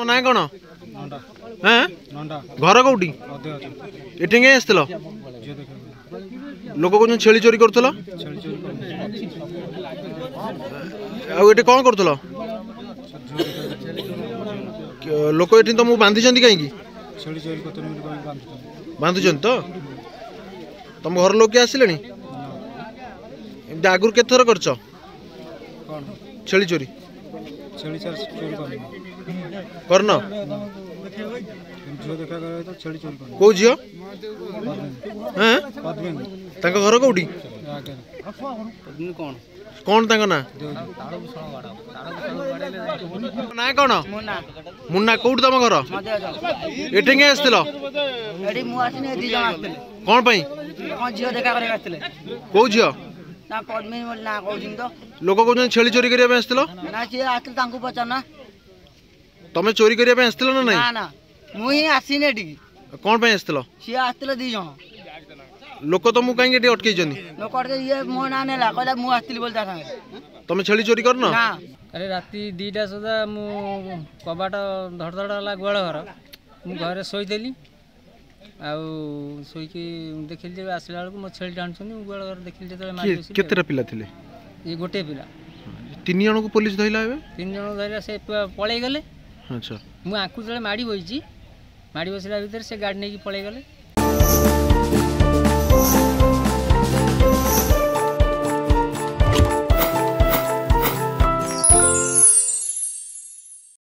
ତମ ନାଁ କ'ଣ? ହଁ, ଘର କୋଉଠି? ଏଠି କାଇଁ ଆସିଥିଲ? ଲୋକ କହୁଛନ୍ତି ଛେଳି ଚୋରି କରୁଥିଲ। ଆଉ ଏଠି କ'ଣ କରୁଥିଲ? ଲୋକ ଏଠି ତମକୁ ବାନ୍ଧିଛନ୍ତି କାହିଁକି? ବାନ୍ଧୁଛନ୍ତି ତ? ତମ ଘର ଲୋକ କିଏ ଆସିଲେଣି? ଏମିତି ଆଗରୁ କେତେଥର କରିଛ ଛେଳି ଚୋରି? କରିନ? କୋଉ ଝିଅ? ତାଙ୍କ ଘର କୋଉଠି? କଣ ତାଙ୍କ ନାଁ? ନାଁ କଣ? ମୁନ୍ନା। କୋଉଠି ତମ ଘର? ଏଠି କାଇଁ ଆସିଥିଲ? କଣ ପାଇଁ? କୋଉ ଝିଅ? ଲୋକ କହୁଛନ୍ତି ଛେଳି ଚୋରି କରିବା ପାଇଁ ଆସିଥିଲ। ତମେ ଚୋରି କରିବା ପାଇଁ ଆସିଥିଲ ନା ନାଇଁ? ମୁଁ ହିଁ ଆସିନି ଏଠିକି। କଣ ପାଇଁ ଆସିଥିଲ? ସିଏ ଆସିଥିଲେ 2 ଜଣ ଲୋକ। ତମକୁ କାହିଁକି ଏଠି ଅଟକେଇଛନ୍ତି? ଲୋକ ଅଟକେଇ ଇଏ ମୋ ନାଁ ନେଲା, କହିଲା ମୁଁ ଆସିଥିଲି ବୋଲି ତା ସାଙ୍ଗରେ। ତମେ ଛେଳି ଚୋରି କରିନ? ଆରେ ରାତି 2ଟା ସୁଦ୍ଧା ମୁଁ କବାଟ ଧଡ଼ ଧଡ଼ ହେଲା ଗୁହାଳ ଘର। ମୁଁ ଘରେ ଶୋଇଥିଲି, ଆଉ ଶୋଇକି ଦେଖିଲି ଯେ ଆସିଲା ବେଳକୁ ମୋ ଛେଳି ଟାଣୁଛନ୍ତି। ମୁଁ ଗୁହାଳ ଘର ଦେଖିଲି ଯେତେବେଳେ। କେତେଟା ପିଲା ଥିଲେ? ଇଏ ଗୋଟିଏ ପିଲା। 3 ଜଣଙ୍କୁ ପୋଲିସ ଧଇଲା ଏବେ? 3 ଜଣଙ୍କୁ ଧଇଲା, ସେ ପଳେଇଗଲେ। ଆଚ୍ଛା। ମୁଁ ଆଙ୍କୁ ଯେତେବେଳେ ମାଡ଼ି ବସିଛି, ମାଡ଼ି ବସିଲା ଭିତରେ ସେ ଗାଡ଼ି ନେଇକି ପଳେଇଗଲେ।